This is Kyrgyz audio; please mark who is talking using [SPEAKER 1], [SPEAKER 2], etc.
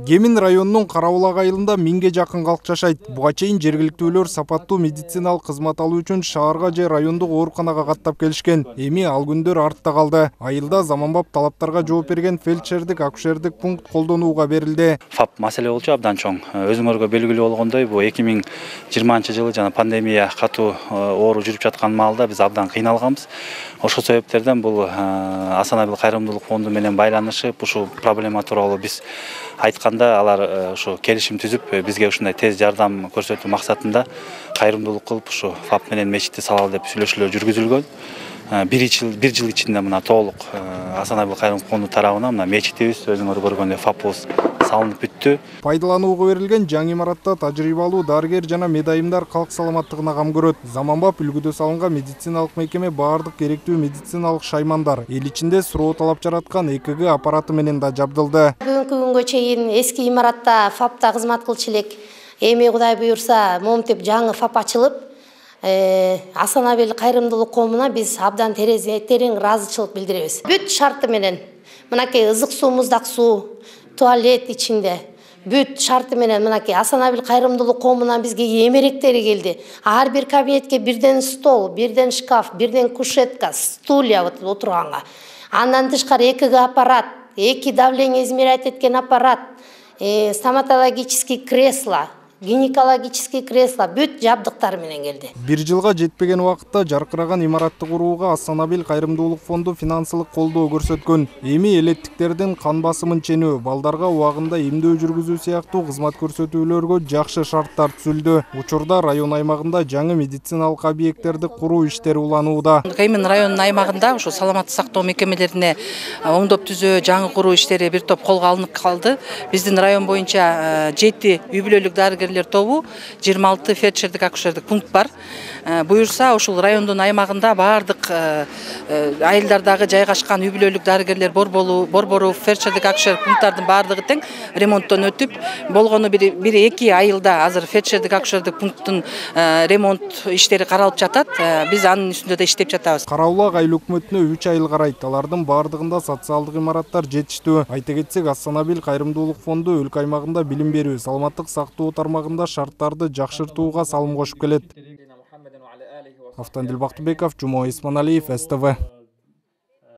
[SPEAKER 1] Кемин районунун Карабулак айылында 1000ге жакын калк жашайт. Буга чейин жергиликтүүлөр сапаттуу медициналык кызмат алуу үчүн шаарга же райондук ооруканага каттап келишкен. Эми ал күндөр артта калды. Айылда заманбап талаптарга жооп берген фельдшердик, акушердик пункт колдонууга берилди.
[SPEAKER 2] ФАП маселе болчу абдан чоң. Өзүңөргө белгилүү болгондой, бул 2020 жылы жана пандемия катуу оору жүрүп жаткан маалда биз абдан кыйналганбыз. Ошол себептерден бул Асанабил кайрымдуулук фонду менен байланышып, ушул проблема тууралуу биз айтканда алар ушу келишим түзүп, бизге ушундай тез жардам көрсөтүү максатында кайрымдуулук кылып ушу ФАП менен мечитти салалы деп сүйлөшүүлөр жүргүзүлгөн. Bir жыл ичинде мына толук Асанабил кайрымдуулук фонду тарабынан мына мечитибиз өзүңөр көргөндөй ФАПыбыз салынып бүттү.
[SPEAKER 1] Пайдаланууга берилген жаңы имаратта тажрыйбалуу дарыгер жана медайымдар калк саламаттыгына кам көрөт. Заманбап үлгүдө салынган медициналык мекеме баардык керектүү медициналык шаймандар, эл ичинде суроо талап жараткан ЭКГ аппараты менен да жабдылды.
[SPEAKER 3] Бүгүнкү күнгө чейин эски имаратта ФАПта кызмат кылчу элек. Эми Кудай буюрса, моминтип жаңы ФАП ачылып, Асанабил кайрымдуулук коомуна биз абдан терең ыраазычылык билдиребиз. Бүт шарты менен мынакей ызык суу, муздак суу, туалет ичинде бүт шарты менен мынакей Асанабил кайрымдуулук коомунан бизге эмеректери келди. Ар бир кабинетке бирден стол, бирден шкаф, бирден кушетка, стулья отурганга. Андан тышкары ЭКГ аппарат, 2 давление измерять эткен аппарат, стоматологический кресло, гинекологический кресло бүт жабдыктар менен келди.
[SPEAKER 1] 1 жылга жетпеген убакытта жаркыраган имаратты курууга Асанабил кайрымдуулук фонду финансылык колдоо көрсөткөн. Эми элеттиктердин кан басымын ченөө, балдарга убагында эмдөө жүргүзүү сыяктуу кызмат көрсөтүүлөргө жакшы шарттар түзүлдү. Учурда район аймагында жаңы медициналык объекттерди куруу иштери уланууда.
[SPEAKER 4] Кемин районунун аймагында ушу саламаттык сактоо мекемелерине оңдоп түзөө, жаңы куруу иштери бир топ колго алынып калды. Биздин район боюнча 7 үй бүлөлүк дарыгерлер тобу, 26 фельдшердик акушердик пункт бар. Буюрса, ушул райондун аймагында баардык айылдардагы жайгашкан үй бүлөлүк дарыгерлер борбору, фельдшердик акушердик пункттардын баардыгы тең ремонттон өтүп, болгону 1-2 айылда азыр фельдшердик акушердик пункттун ремонт иштери каралып жатат. Биз анын үстүндө да иштеп жатабыз.
[SPEAKER 1] Карабулак айыл өкмөтүнө 3 айыл карайт. Алардын баардыгында социалдык имараттар жетиштүү. Айта кетсек, Асанабил кайрымдуулук фонду өлкө аймагында билим берүү, саламаттык сактоо тармагында шарттарды жакшыртууга салым кошуп келет. Автандил Бактыбеков, Жумой Исманалиев, СТВ.